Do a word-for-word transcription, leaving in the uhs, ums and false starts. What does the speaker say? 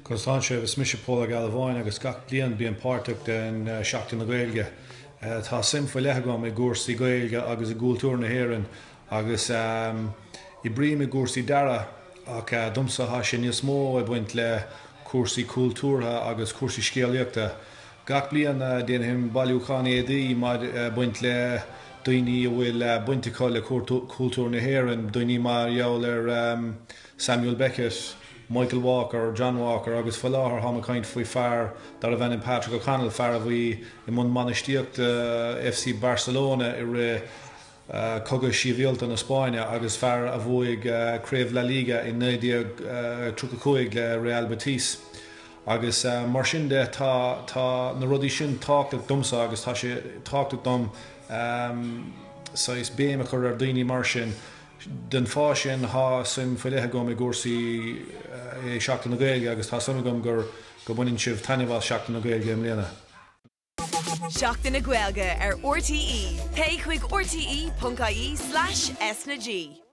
Conas tá sibh is mise Pól Ó Gealbháin agus gach bliain bím páirteach den Seachtain na Gaeilge. Tá suim faoi leith agam i gcúrsaí Gaeilge agus i gcultúr na hÉireann agus oibrím i gcúrsaí dearaidh ach domsa tá sé níos mó ag baint le cúrsaí cultúrtha agus cúrsaí scéalaíochta. Gach bliain déanaim bailiúchán éadaí ag baint le daoine a bhfuil baint acu le cultúr na hÉireann, daoine mar gheall ar Samuel Beckett, Michael Walker, John Walker agus faoi láthair táim ag caint faoi fear darbh ainm Patrick O'Connell fear a bhí i mbun bainistíochta FC Barcelona i rith cogadh sibhialta na Spáinne agus fear a bhuaigh craobh La Liga i naoi déag tríocha cúig le Real Betis. Agus mar sin de tá tá na rudaí sin tábhachtach domsa agus tá sé tábhachtach dom saghas béim a chur ar daoine mar sin. Den fáth sin tá suim faoi leith agam i gcúrsaí é Seachtain na Gaeilge agus tá suim agam gur go mbaineann sibh taitneamh as Seachtain na Gaeilge i mbliana. Seachtain na Gaeilge ar RTÉ. Téigh chuig rte.ie slash S na G.